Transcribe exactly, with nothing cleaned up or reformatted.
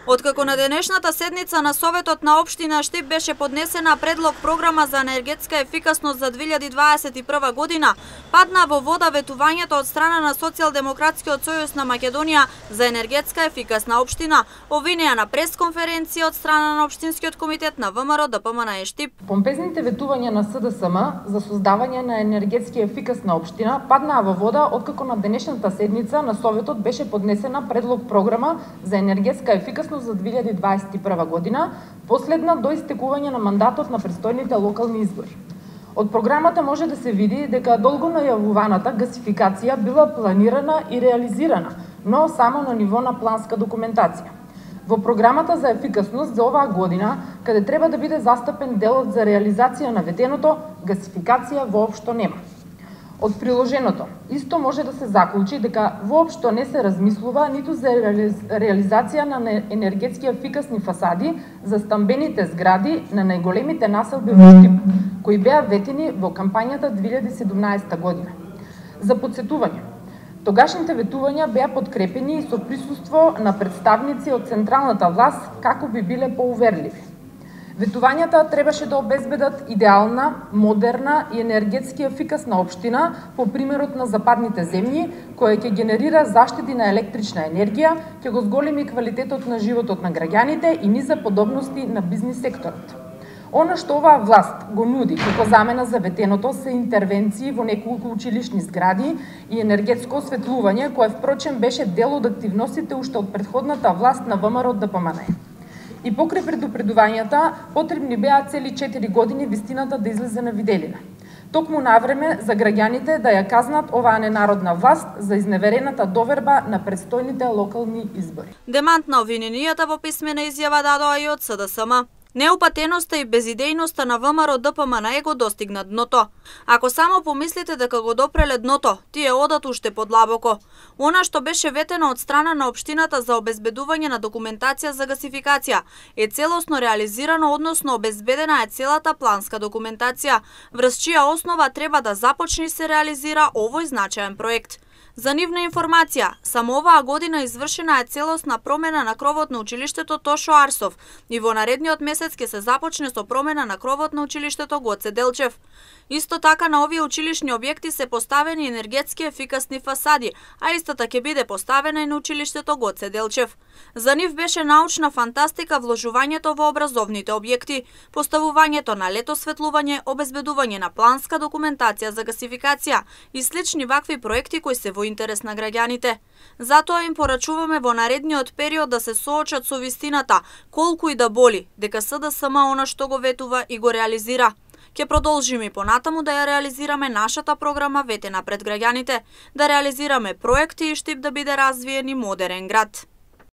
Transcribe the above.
Откако на денешната седница на Советот на општина Штип беше поднесена предлог програма за енергетска ефикасност за две илјади дваесет и прва година, падна во вода ветувањето од страна на Социјалдемократскиот сојуз на Македонија за енергетска ефикасна општина, обвинија на пресконференција од страна на општинскиот комитет на ВМРО ДПМН Штип. Помпезните ветувања на СДСМ за создавање на енергетски ефикасна општина паднаа во вода откако на денешната седница на Советот беше поднесена предлог програма за енергетска ефикасност за две илјади дваесет и прва година, последна до истекување на мандатот на престојните локални избори. Од програмата може да се види дека долго најавуваната гасификација била планирана и реализирана, но само на ниво на планска документација. Во програмата за ефикасност за оваа година, каде треба да биде застапен делот за реализација на ветеното, гасификација воопшто нема. Од приложеното, исто може да се заклучи дека воопшто не се размислува ниту за реализација на енергетски ефикасни фасади за стамбените згради на најголемите населби во Штип, кои беа ветени во кампањата две илјади и седумнаесета година. За потсетување, тогашните ветувања беа подкрепени и со присуство на представници од централната власт како би биле поуверливи. Ветувањата требаше да обезбедат идеална, модерна и енергетски ефикасна општина по примерот на западните земји, која ќе генерира заштеди на електрична енергија, ќе го зголеми квалитетот на животот на граѓаните и низа подобности на бизнис секторот. Она што оваа власт го нуди како замена за ветеното се интервенции во неколку училишни згради и енергетско осветлување, кое впрочем беше дел од активностите уште од претходната власт на ВМРО ДПМН. И покрај предупредувањата, потребни беа цели четири години вистината да излезе на виделина. Токму навреме за граѓаните да ја казнат оваа ненародна власт за изневерената доверба на предстојните локални избори. Демант на обвиненијата во писмена изјава дадоа и од СДСМ. Неупатеноста и безидејноста на ВМРО ДПМН го достигна дното. Ако само помислите дека го допреле дното, тие одат уште подлабоко. Она што беше ветено од страна на општината за обезбедување на документација за гасификација е целосно реализирано, односно обезбедена е целата планска документација, врз чија основа треба да започне и се реализира овој значаен проект. За нивна информација, само оваа година извршена е целосна промена на кровот на училиштето Тошо Арсов и во наредниот месец ќе се започне со промена на кровот на училиштето Гоце Делчев. Исто така на овие училишни објекти се поставени енергетски ефикасни фасади, а истата ќе биде поставена и на училиштето Гоце Делчев. За нив беше научна фантастика вложувањето во образовните објекти, поставувањето на лед осветлување, обезбедување на планска документација за гасификација и слични вакви проекти кои се во интерес на граѓаните. Затоа им порачуваме во наредниот период да се соочат со вистината, колку и да боли, дека СДСМ она што го ветува и го реализира. Ќе продолжиме и понатаму да ја реализираме нашата програма ветена пред граѓаните, да реализираме проекти и Штип да биде развиен и модерен град.